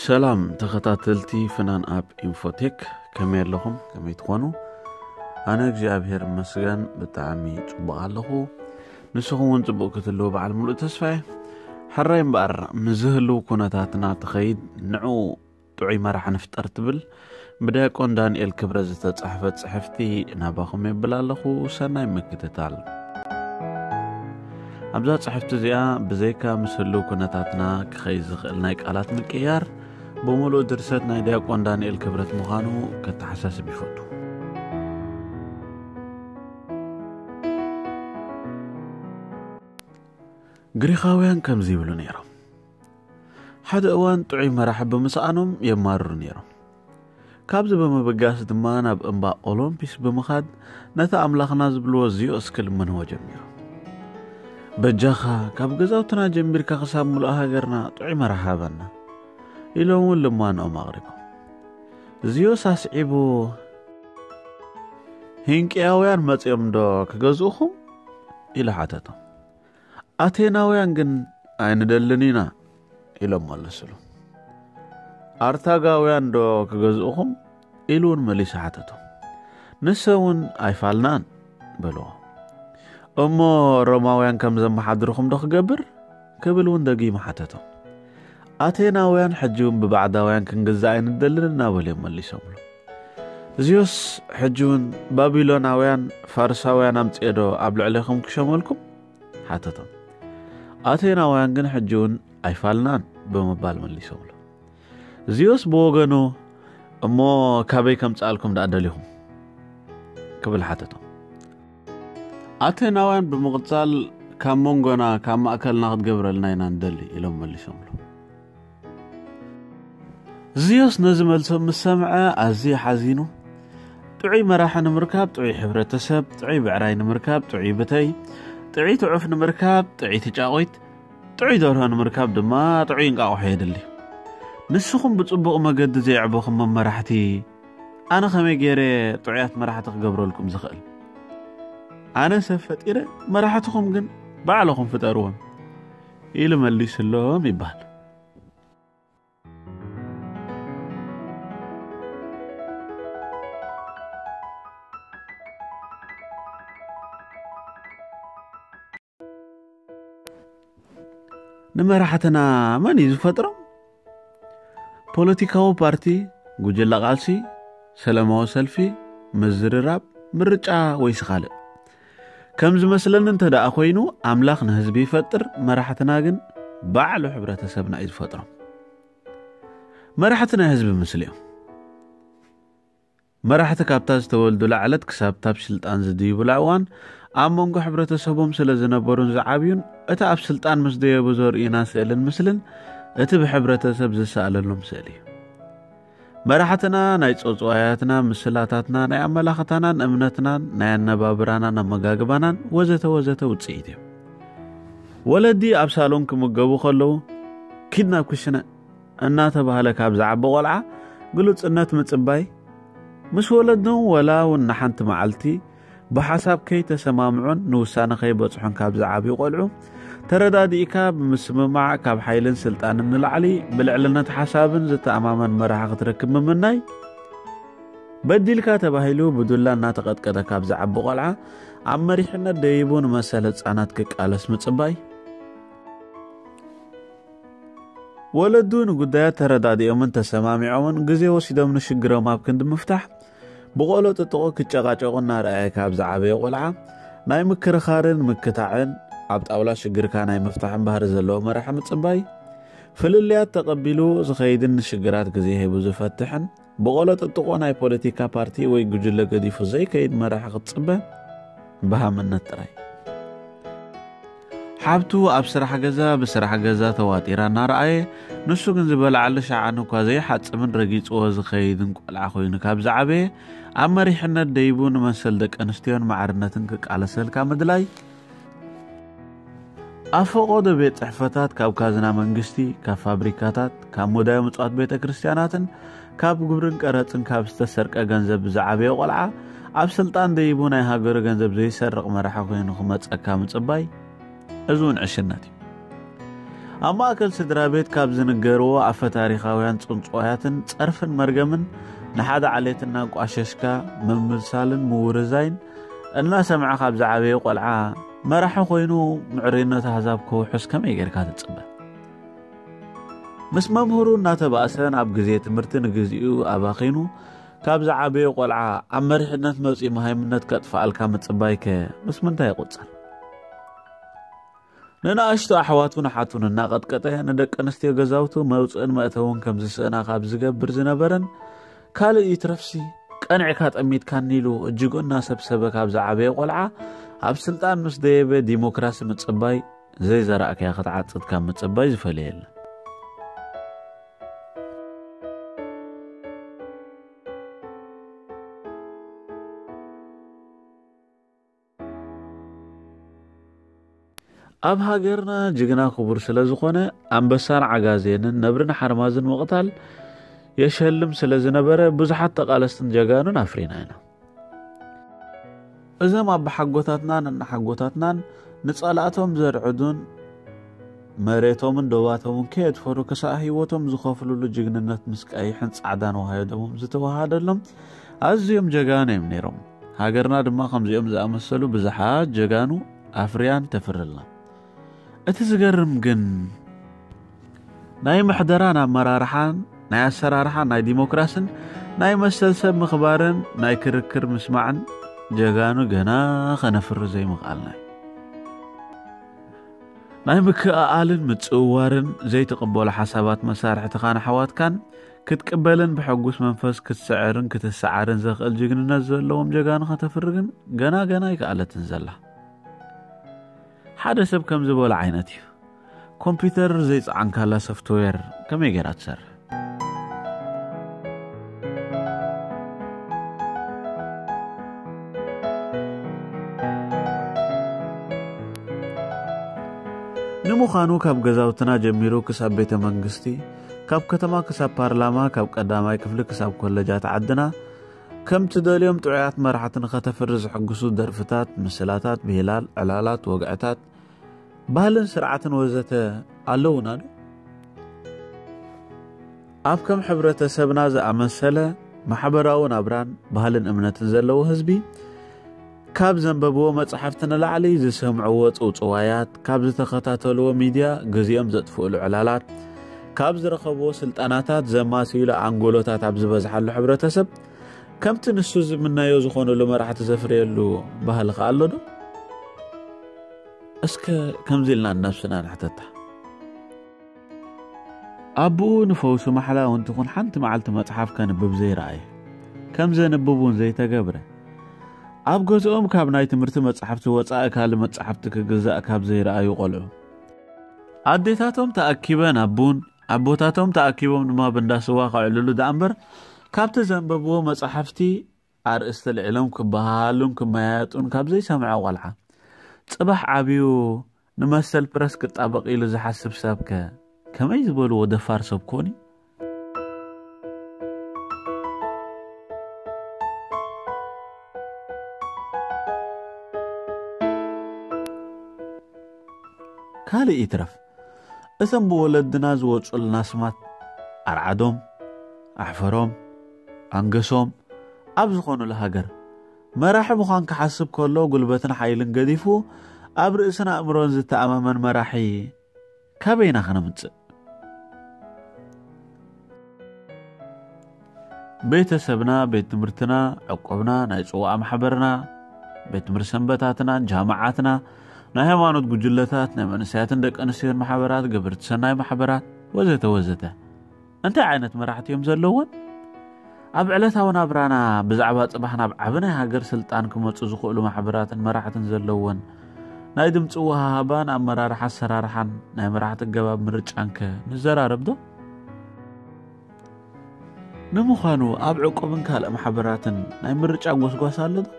ሰላም ተኸታተልቲ ፍናን ኣብ ኢንፎቴክ፣ ከመይ ኣለኹም? ከመይ ትኾኑ? ኣነ እግዚኣብሔር ይመስገን ብጣዕሚ ጽቡቕ ኣለኹ። ንስኹም እውን ጽቡቕ ክትህልዉ በዓል ሙሉእ ተስፋ እየ። ሕራይ እምበኣር፣ ንዝህልው ኩነታትና ትኸይድ ንዕኡ ጥዑይ መራሕ ንፍጠር ትብል ብዲያቆን ዳንኤል ክብረት ዝተጻሕፈት ጽሕፍቲ ናባኹም የብል ኣለኹ። ሰናይ ምክትታል። ኣብዛ ጽሕፍቲ እዚኣ ብዘይካ ምስ ህልው ኩነታትና ክኸይድ ዝኽእል ናይ ቃላት ምቅያር፣ ብምሉእ ድርሰት ናይ ዲያቆን ዳንኤል ክብረት ምዃኑ ከተሓሳስብ ይፈቱ። ግሪኻውያን ከምዚ ይብሉ ነይሮም። ሓደ እዋን ጥዑይ መራሒ ብምስኣኖም የማርሩ ነይሮም። ካብዚ ብምብጋስ ድማ ናብ እምባ ኦሎምፒስ ብምኻድ ነቲ ኣምላኽና ዝብልዎ ዚዮስ ክልምንዎ ጀሚሮም። "በጃኻ ካብ ገዛውትና ጀሚርካ ክሳብ ምሉእ ሃገርና ጥዑይ መራሒ ሃበና" ኢሎም እውን ልማኖኦም ኣቕሪቦም። ዚዮስ ኣስዒቡ፣ "ሂንቅያውያን መጺኦም ዶ ክገዝኡኹም?" ኢሉ ሓተቶም። "ኣቴናውያን ግን ኣይንደልን ኢና" ኢሎም መለስሉ። "ኣርታጋውያን ዶ ክገዝኡኹም?" ኢሉ እውን መሊሱ ሓተቶም። "ንሶም እውን ኣይፋልናን" በልዎ። "እሞ ሮማውያን ከም ዘመሓድርኹም ዶ ክገብር?" ክብል እውን ደጊሙ ሓተቶም። ኣቴናውያን ሕጂ እውን ብባዕዳውያን ክንግዛእ ኣይንደልን እናበሉ እዮም መሊሶምሉ። ዚዮስ ሕጂ እውን "ባቢሎናውያን ፋርሳውያን ኣምጽኤ ዶ ኣብ ልዕሌኹም ክሸመልኩም?" ሓተቶም። ኣቴናውያን ግን ሕጂ እውን "ኣይፋልናን" ብምባል መሊሶምሉ። ዚዮስ ብወገኑ "እሞ ካበይ ከምጽኣልኩም ደኣ ደሊኹም?" ክብል ሓተቶም። ኣቴናውያን ብምቕጻል "ካብ መንጎና፣ ካብ ማእከልና ክትገብረልና ኢና ንደሊ" ኢሎም መሊሶምሉ። ዚዮስ ነዚ መልሶም ምስ ሰምዐ ኣዝዩ ሓዚኑ። ጥዑይ መራሒ ንምርካብ ጥዑይ ሕብረተሰብ፣ ጥዑይ ብዕራይ ንምርካብ ጥዑይ ብተይ፣ ጥዑይ ትዑፍ ንምርካብ ጥዑይቲ ጫቑት፣ ጥዑይ ደርሆ ንምርካብ ድማ ጥዑይ እንቃቑሖ የድሊ። ንስኹም ብጽቡቕ መገዲ ዘየዕበኹም መመራሕቲ፣ ኣነ ከመይ ገይረ ጥዑያት መራሕቲ ክገብረልኩም ዝኽእል? ኣነ ሰብ ፈጢረ፣ መራሕትኹም ግን ባዕልኹም ፍጠርዎም ኢሉ መሊስሎም ይበሃል። ንመራሕትና መን እዩ ዝፈጥሮም? ፖለቲካዊ ፓርቲ፣ ጉጅለ ቃልሲ፣ ሰላማዊ ሰልፊ፣ ምዝርራብ፣ ምርጫ ወይስ ካልእ? ከም ዝመስለኒ እንተ ደኣ ኮይኑ፣ ኣምላኽ ንህዝቢ ይፈጥር፣ መራሕትና ግን ባዕሉ ሕብረተሰብና እዩ ዝፈጥሮም። መራሕቲ ናይ ህዝቢ ምስሊ እዮም። መራሕቲ ካብታ ዝተወልዱላ ዕለት ክሳብ ታብ ስልጣን ዝድይቡላ እዋን ኣብ መንጎ ሕብረተሰቦም ስለ ዝነበሩን ዝዓብዩን፣ እቲ ኣብ ስልጣን ምስ ደየቡ ዘርእዩና ስእልን ምስልን እቲ ብሕብረተሰብ ዝሰኣለሎም ስእሊ እዩ። መራሕትና ናይ ጸጽዋያትና፣ ምስላታትና፣ ናይ ኣመላኽታናን እምነትናን፣ ናይ ኣነባብራናን ኣመጋግባናን ወዘተ ወዘተ ውጽኢት እዮም። ወለዲ ኣብ ሳሎን ክምገቡ ከለዉ፣ "ኪድ ናብ ክሽነ" እናተባህለ ካብ ዝዓቢ ቆልዓ ግሉጽነት ምጽባይ፣ ምስ ወለዶም ወላ እውን ንሓንቲ መዓልቲ ብሓሳብ ከይተሰማምዑን ንውሳነ ከይበጽሑን ካብ ዝዓብዩ ቆልዑ፣ ተረዳዲእካ ብምስምማዕ ካብ ሓይልን ስልጣንን ንላዕሊ ብልዕልነት ሓሳብን ዝተኣማመን መራሒ ክትረክብ ምምናይ፣ በዲልካ ተባሂሉ ብዱላ እናተቐጥቀጠ ካብ ዝዓቢ ቆልዓ ኣብ መሪሕነት ደይቡ ንመሰል ህጻናት ክቃለስ ምጽባይ፣ ወለዱ ንጉዳያት ተረዳዲኦምን ተሰማሚዖምን ግዜ ወሲዶም ንሽግሮም ኣብ ክንዲ ምፍታሕ፣ ብቆሎ ጥጥቆ ክጨቃጨቁ እናረኣየ ካብ ዝዓበየ ቆልዓ፣ ናይ ምክርኻርን ምክታዕን፣ ኣብ ጣውላ ሽግርካ ናይ ምፍታሕን ባህሪ ዘለዎ መራሒ ምጽባይ፣ ፍልልያት ተቐቢሉ ዝኸይድን ንሽግራት ግዜ ሂቡ ዝፈትሕን፣ ብቆሎ ጥጥቆ ናይ ፖለቲካ ፓርቲ ወይ ጉጅለ ገዲፉ ዘይከይድ መራሒ ክትጽበ፣ በሃምነት ጥራይ። ሓብቱ ኣብ ስራሕ ገዛ ብስራሕ ገዛ ተዋጢራ እናረኣየ፣ ንሱ ግን ዝበልዓሉ ሸዓን እኳ ዘይሓጽብን ረጊጽዎ ዝኸይድን ቆልዓ ኮይኑ ካብ ዝዓበየ፣ ኣብ መሪሕነት ደይቡ ንመሰል ደቂ ኣንስትዮን ማዕርነትን ክቃለሰልካ ምድላይ፣ ኣብ ፈቐዶ ቤት ጽሕፈታት፣ ካብ ካዝና መንግስቲ፣ ካብ ፋብሪካታት፣ ካብ ሙዳየ ምጽዋት ቤተ ክርስቲያናትን ካብ ግብርን ቀረጽን ካብ ዝተሰርቀ ገንዘብ ብዝዓበየ ቆልዓ፣ ኣብ ስልጣን ደይቡ ናይ ሃገሩ ገንዘብ ዘይሰርቕ መራሒ ኮይኑ ክመጸካ ምጽባይ፣ እዚ እውን ዕሽነት እዩ። ኣብ ማእከል ስድራ ቤት ካብ ዝንገርዎ ኣፈ ታሪኻውያን ጽንጽዋያትን ጸርፍን መርገምን ንሓደ ዓሌት እናንቋሸሽካ ምምሳልን ምውርዛይን እናሰምዐ ካብ ዝዓበየ ቆልዓ መራሒ ኮይኑ ምዕሩይነት ኣህዛብ ከውሕስ ከመይ ጌርካ ትጽበ? ምስ መምህሩ እናተባእሰ ናብ ግዜ ትምህርቲ ንግዚኡ ኣባኺኑ ካብ ዝዓበየ ቆልዓ ኣብ መሪሕነት መጺኡ መሃይምነት ከጥፍኣልካ ምጽባይከ ምስ ምንታይ ይቑጸር? ንንኣሽቱ ኣሕዋቱን ኣሓቱን እናቐጥቀጠ ንደቂ ኣንስትዮ ገዛውቱ መውፅእን መእተውን ከም ዝስእና ካብ ዝገብር ዝነበረን ካልእ ይትረፍሲ ቀንዕካ ጠሚትካኒ ኢሉ እጅጉ እናሰብሰበ ካብ ዝዓበየ ቆልዓ ኣብ ስልጣን ምስ ደየበ ዲሞክራሲ ምፅባይ ዘይዘራእካያ ክትዓፅድ ካብ ምፅባይ ዝፈልየ የለን። ኣብ ሃገርና ጅግና ክቡር ስለ ዝኾነ ኣንበሳን ዓጋዜንን ነብርን ሓርማዝን ምቕታል የሸልም ስለ ዝነበረ ብዙሓት ተቓለስትን ጀጋኑን ኣፍሪና ኢና። እዞም ኣቦሓጎታትናን እናሓጎታትናን ንጸላእቶም ዘርዕዱን መሬቶምን ዶባቶምን ከየድፈሩ ክሳእ ህይወቶም ዝኸፍሉሉ ጅግንነት ምስ ቀይሕን ጻዕዳን ወሃዮ ደሞም ዝተወሃደሎም ኣዝዮም ጀጋኑ እዮም ነይሮም። ሃገርና ድማ ከምዚኦም ዝኣመሰሉ ብዙሓት ጀጋኑ ኣፍርያን ተፍርልና። እቲ ዝገርም ግን ናይ ምሕደራን ኣመራርሓን ናይ ኣሰራርሓን ናይ ዲሞክራስን ናይ መሰል ሰብ ምኽባርን ናይ ክርክር ምስማዕን ጀጋኑ ገና ከነፍሪ ዘይምኽኣልና እዩ። ናይ ምክእኣልን ምጽውዋርን ዘይትቕበሎ ሓሳባት መሳርሕትኻን ኣሕዋትካን ክትቅበልን ብሕጉስ መንፈስ ክትስዕርን ክትሰዓርን ዘኽእል ጅግንነት ዘለዎም ጀጋኑ ከተፍሪ ግን ገና ገና ኣይከኣለትን ዘላ። ሓደ ሰብ ከም ዝበሎ ዓይነት እዩ። ኮምፒውተር ዘይጸዓንካላ ሶፍትዌር ከመይ ጌራ ትሰርሕ? ንምዃኑ ካብ ገዛውትና ጀሚሩ ክሳብ ቤተ መንግስቲ፣ ካብ ከተማ ክሳብ ፓርላማ፣ ካብ ቀዳማይ ክፍሊ ክሳብ ኮለጃት ዓድና ከም ትደልዮም ጥዑያት መራሕቲ ንኸተፍሪ ዝሕግሱ ደርፍታት፣ ምስላታት፣ ብሂላል፣ ዕላላት፣ ወግዕታት፣ ባህልን ስርዓትን ወዘተ ኣለውና ዶ? ኣብ ከም ሕብረተሰብና ዝኣመሰለ ማሕበራዊ ናብራን ባህልን እምነትን ዘለዎ ህዝቢ ካብ ዘንበብዎ መጽሓፍቲ ንላዕሊ ዝሰምዕዎ ጽውጽዋያት፣ ካብ ዝተኸታተልዎ ሚድያ ግዜኦም ዘጥፍእሉ ዕላላት፣ ካብ ዝረኸብዎ ስልጠናታት ዘማስይሉ ኣንጎሎታት ኣብ ዝበዝሓሉ ሕብረተሰብ ከምቲ ንሱ ዝምነዮ ዝኾኑሉ መራሕቲ ዘፍርየሉ ባህሊ ከ ኣሎ ዶ? እስከ ከምዚ ኢልና ንነብስና ንሕተታ። ኣቦኡ ንፈውሲ ማሕላ እውን ትኹን ሓንቲ መዓልቲ መጽሓፍ ከንብብ ዘይረኣየ፣ ከም ዘንብብ እውን ዘይተገብረ፣ ኣብ ገዝኦም ካብ ናይ ትምህርቲ መጻሕፍቲ ወጻኢ ካልእ መጻሕፍቲ ክግዛእ ካብ ዘይረኣዩ ቆልዑ፣ ኣዴታቶም ተኣኪበን ኣብ ቡን፣ ኣቦታቶም ተኣኪቦም ድማ ብእንዳ ስዋ ከዕልሉ ደኣ እምበር ካብቲ ዘንበብዎ መጻሕፍቲ ኣርእስቲ ኣልዒሎም ክበሃሃሉን ክመያየጡን ካብ ዘይሰምዐ ቆልዓ፣ ጽባሕ ዓብዩ ንመሰል ፕረስ ክጣበቕ ኢሉ ዝሓስብ ሰብከ ከመይ ዝበልዎ ደፋር ሰብ ኮን እዩ? ካልእ ይትረፍ፣ እቶም ብወለድና ዝወጹልና ስማት ኣርዓዶም፣ ኣሕፈሮም፣ ኣንገሶም ኣብ ዝኾኑሉ ሃገር፣ መራሒ ምዃን ክሓስብ ከሎ ጉልበትን ሓይልን ገዲፉ ኣብ ርእስን ኣእምሮን ዝተኣማመን መራሒ ካበይና ከነምጽእ? ቤተሰብና፣ ቤት ትምህርትና፣ ዕቁብና፣ ናይ ጽዋእ ማሕበርና፣ ቤት ትምህርቲ ሰንበታትና፣ ጃምዓትና፣ ናይ ሃይማኖት ጉጅለታት፣ ናይ መንእሰያትን ደቂ ኣንስትዮን ማሕበራት፣ ግብርቲ ሰናይ ማሕበራት ወዘተ ወዘተ እንታይ ዓይነት መራሕቲ እዮም ዘለዎን? ኣብ ዕለታዊ ናብራና ብዛዕባ ጽባሕ ናብ ዓቢ ናይ ሃገር ስልጣን ክመጹ ዝኽእሉ ማሕበራትን መራሕትን ዘለዎን ናይ ድምጺ ወሃሃባን ኣመራርሓ ኣሰራርሓን ናይ መራሕቲ ኣገባብ ምርጫንከ ንዘራረብ ዶ? ንምዃኑ ኣብ ዕቁብን ካልእ ማሕበራትን ናይ ምርጫ ጎስጓስ ኣሎ ዶ?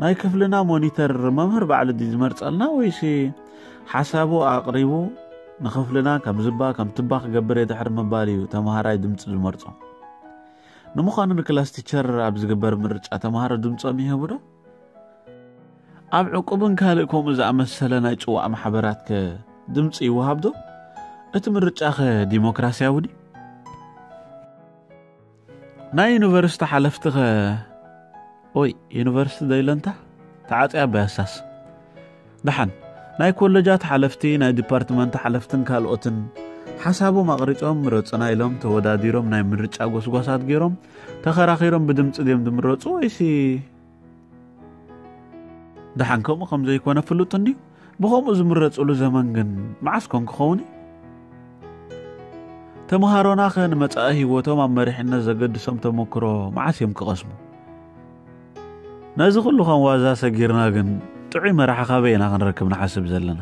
ናይ ክፍልና ሞኒተር መምህር ባዕሉ ድዩ ዝመርጸልና ወይሲ ሓሳቡ ኣቕሪቡ ንኽፍልና ከም ዝባ ከም ትባ ክገብር እየ ድሕሪ ምባል እዩ ተምሃራይ ድምፂ ዝመርጾ? ንምዃኑ ንክላስ ቲቸር ኣብ ዝግበር ምርጫ ተምሃሮ ድምፆም ይህቡ ዶ? ኣብ ዕቁብን ካልእ ከምኡ ዝኣመሰለ ናይ ጽዋእ ማሕበራትከ ድምፂ ይወሃብ ዶ? እቲ ምርጫኸ ዲሞክራሲያዊ ድዩ? ናይ ዩኒቨርሲቲ ሓለፍትኸ? ኦይ፣ ዩኒቨርሲቲ ደይለንታ ተዓፅያ በያሳስ። ደሓን፣ ናይ ኮለጃት ሓለፍቲ፣ ናይ ዲፓርትመንት ሓለፍትን ካልኦትን ሓሳቦም ኣቕሪጾም ምረጹና ኢሎም ተወዳዲሮም ናይ ምርጫ ጎስጓሳት ገይሮም ተኸራኺሮም ብድምፂ ድዮም ዝምረፁ ወይሲ? ደሓን ከምኡ ከም ዘይኮነ ፍሉጥ እንድዩ። ብኸምኡ ዝምረፅሉ ዘመን ግን መዓስ ኮን ክኸውን እዩ? ተምሃሮናኸ ንመጻኢ ህይወቶም ኣብ መሪሕነት ዘገድሶም ተመክሮ መዓስ እዮም ክቐስሙ? ነዚ ኩሉ ከም ዋዛ ሰጊርና ግን ጥዑይ መራሒ ካበይ ኢና ክንረክብ ንሓስብ ዘለና?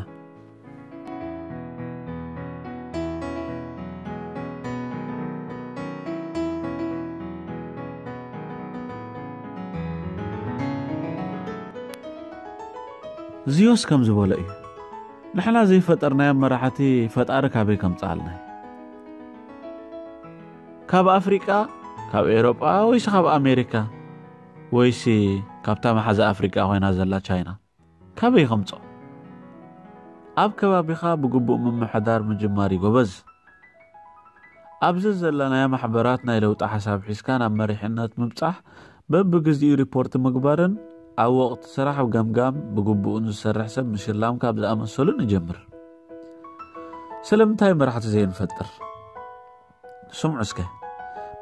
ዚዮስ ከም ዝበሎ እዩ። ንሕና ዘይፈጠርናዮም መራሕቲ ፈጣሪ ካበይ ከምጽኣልና? ካብ ኣፍሪቃ፣ ካብ ኤሮጳ ወይስ ካብ ኣሜሪካ? ወይሲ ካብታ መሓዛ ኣፍሪቃ ኮይና ዘላ ቻይና? ካበይ ከምጾ? ኣብ ከባቢኻ ብግቡእ ምምሕዳር ምጅማር እዩ ጎበዝ። ኣብዚ ዘለናዮ ማሕበራት ናይ ለውጢ ሓሳብ ሒዝካ ናብ መሪሕነት ምብጻሕ፣ በብግዚኡ ሪፖርት ምግባርን ኣብ ወቕቲ ስራሕ ገምጋም ብግቡእ ንዝሰርሕ ሰብ ምሽላም ካብ ዝኣመሰሉ ንጀምር። ስለምንታይ መራሕቲ ዘይንፈጥር? ስምዑ እስከ፣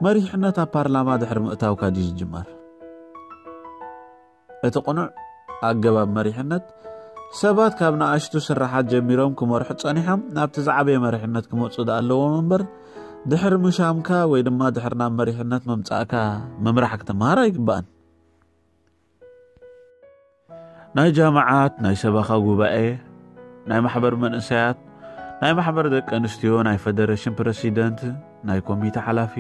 መሪሕነት ኣብ ፓርላማ ድሕሪ ምእታውካ ድዩ ዝጅመር? እቲ ቅኑዕ ኣገባብ መሪሕነት፣ ሰባት ካብ ንኣሽቱ ስራሓት ጀሚሮም ክመርሑ ጸኒሖም ናብቲ ዝዓበየ መሪሕነት ክመጹ ዝኣለዎም እምበር፣ ድሕሪ ምሻምካ ወይ ድማ ድሕሪ ናብ መሪሕነት ምምጻእካ ምምራሕ ክትመሃር ኣይግባእን። ናይ ጃምዓት፣ ናይ ሰበኻ ጉባኤ፣ ናይ ማሕበር መንእሰያት፣ ናይ ማሕበር ደቂ ኣንስትዮ፣ ናይ ፈደረሽን ፕረሲደንት፣ ናይ ኮሚተ ሓላፊ፣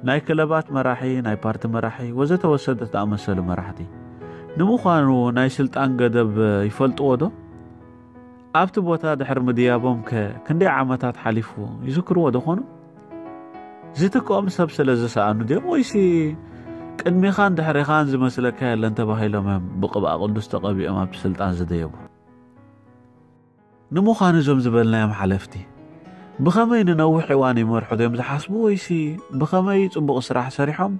ናይ ክለባት መራሒ፣ ናይ ፓርቲ መራሒ ወዘተ ወሰደት ዝኣመሰሉ መራሕቲ። ንምዃኑ ናይ ስልጣን ገደብ ይፈልጥዎ ዶ? ኣብቲ ቦታ ድሕሪ ምድያቦም ከ ክንደይ ዓመታት ሓሊፉ ይዝክርዎ ዶ ኾኑ? ዝትክኦም ሰብ ስለ ዝሰኣኑ ድዮም ወይሲ ቅድሚኻን ድሕሪኻን ዝመስለካ የለን ተባሂሎም እዮም ብቕብኣ ቅዱስ ተቐቢኦም ኣብቲ ስልጣን ዝደየቡ? ንምዃኑ እዞም ዝበልናዮም ሓለፍቲ ብኸመይ ንነዊሕ እዋን ይመርሑ እዮም ዝሓስቡ ወይሲ ብኸመይ ጽቡቕ ስራሕ ሰሪሖም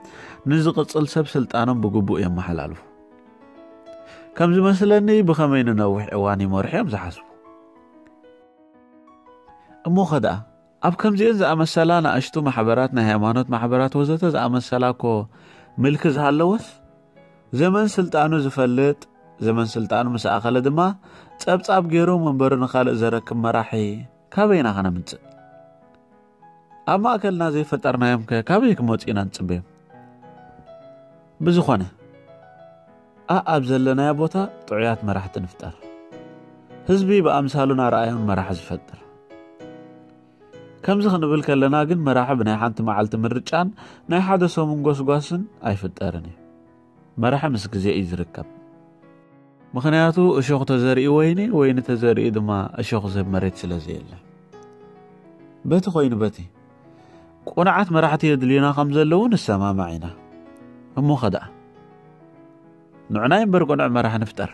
ንዝቕጽል ሰብ ስልጣኖም ብግቡእ የመሓላልፉ? ከም ዝመስለኒ ብኸመይ ንነዊሕ እዋን ይመርሑ እዮም ዝሓስቡ። እሞ ኸ ደኣ ኣብ ከምዚአን ዝኣመሰላ ንኣሽቱ ማሕበራት፣ ናይ ሃይማኖት ማሕበራት ወዘተ ዝኣመሰላ እኮ ምልኪ ዝሃለወስ ዘመን ስልጣኑ ዝፈልጥ፣ ዘመን ስልጣኑ ምስ ኣኸለ ድማ ጸብጻብ ገይሩ መንበሩ ንኻልእ ዘረክብ መራሒ ካበይና ከነምጽእ? ኣብ ማእከልና ዘይፈጠርናዮም ከ ካበይ ክመጹ ኢና ንጽበዮም? ብዝኾነ ኣኣብ ዘለናዮ ቦታ ጥዑያት መራሕቲ ንፍጠር። ህዝቢ ብኣምሳሉን ኣርኣያኡን መራሒ ዝፈጥር። ከምዚ ክንብል ከለና ግን መራሒ ብናይ ሓንቲ መዓልቲ ምርጫን ናይ ሓደ ሰሙን ጎስጓስን ኣይፍጠርን እዩ። መራሒ ምስ ግዜ እዩ ዝርከብ። ምኽንያቱ እሾኽ ተዘሪኡ ወይኒ፣ ወይኒ ተዘሪኡ ድማ እሾኽ ዝህብ መሬት ስለ ዘየለ። በቲ ኮይኑ በቲ ቁኑዓት መራሕቲ የድልዩና ከም ዘለዉ ንሰማማዕ ኢና። እሞ ኸ ደኣ ንዕናይ እምበር ቁኑዕ መራሒ ንፍጠር።